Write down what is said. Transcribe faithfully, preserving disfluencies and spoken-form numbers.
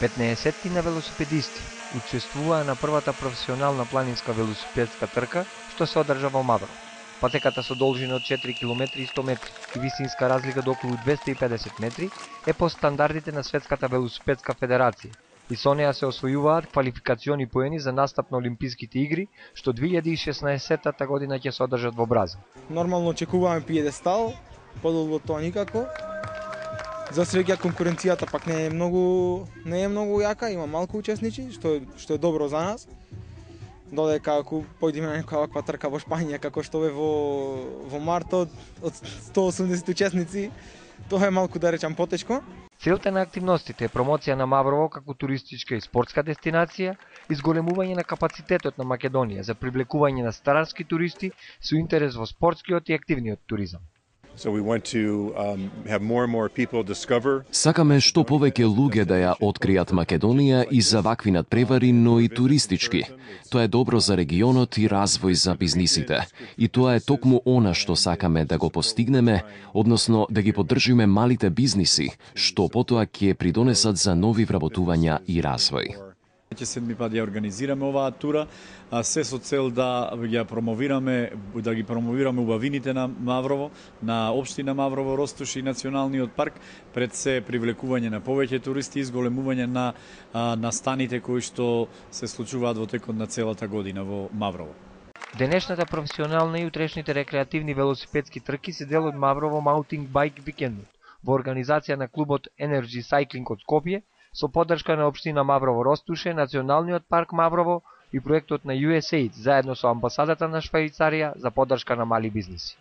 петнаесет на велосипедисти учествуваа на првата професионална планинска велосипедска трка што се одржа во Маврово. Патеката со должина од четири километри и сто метри и висинска разлика до околу двесте и педесет метри е по стандардите на Светската велосипедска федерација и со неа се освојуваат квалификациони поени за настап на Олимписките игри што две илјади и шеснаесетта година ќе се одржат во Бразил. Нормално очекуваме пиедестал, подолго тоа никако. За среќа конкуренцијата пак не е многу не е многу јака, има малку учесници, што што е добро за нас. Додека ако појдеме на некоја ваква трка во Шпања како што е во во март од, од сто и осумдесет учесници, тоа е малку да речам потешко. Целта на активностите е промоција на Маврово како туристичка и спортска дестинација, изголемување на капацитетот на Македонија за привлекување на странски туристи со интерес во спортскиот и активниот туризам. So we want to um, have more and more people discover. Сакаме што повеќе луѓе да ја откријат Македонија и за вакви надпревари, но и туристички. Тоа е добро за регионот и развој за бизнисите. И тоа е токму она што сакаме да го постигнеме, односно да ги поддржиме малите бизниси, што потоа ќе придонесат за нови вработувања и развој. Ќе седми пат ја организираме оваа тура, а се со цел да ја промовираме, да ги промовираме убавините на Маврово, на општина Маврово, Ростуш и националниот парк, пред се привлекување на повеќе туристи и изголемување на а, настаните кои што се случуваат во текот на целата година во Маврово. Денешната професионална и утрешните рекреативни велосипедски трки се дел од Маврово Mountain Bike Weekend во организација на клубот Energy Cycling од Скопје, со поддршка на општина Маврово Ростуше, Националниот парк Маврово и проектот на ю ес ей заедно со амбасадата на Швајцарија за поддршка на мали бизниси.